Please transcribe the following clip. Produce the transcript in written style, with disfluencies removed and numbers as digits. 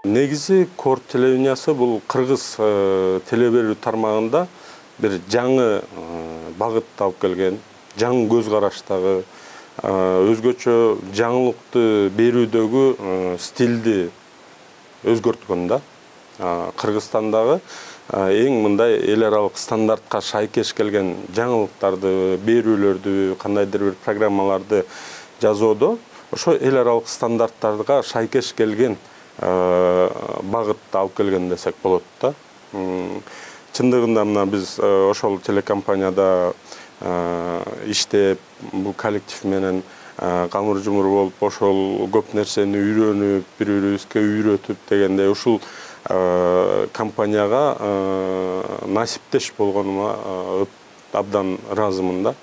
Негизи Корт телевидениясы бул кыргыз теле берүү тармагында бир жаңы багыт алып келген, жаңы көз караштагы, өзгөчө жаңылыкты берүүдөгү стилди өзгөрткөн да. Кыргызстандагы эң мындай эл аралык стандартка шайкеш келген жаңылыктарды, берүүлөрдү, кандайдыр бир программаларды жасоодо ошо эл аралык стандарттарга шайкеш келген багытты алып келген десек болот да. Чындыгында мына биз ошол телекомпанияда иштеп, бул коллектив менен камыр жумур болуп, ошол көп нерсени үйрөнүп, бири-бирибизге үйрөтүп дегендей ушул компанияга насиптеш болгонума абдан ыраазымын да.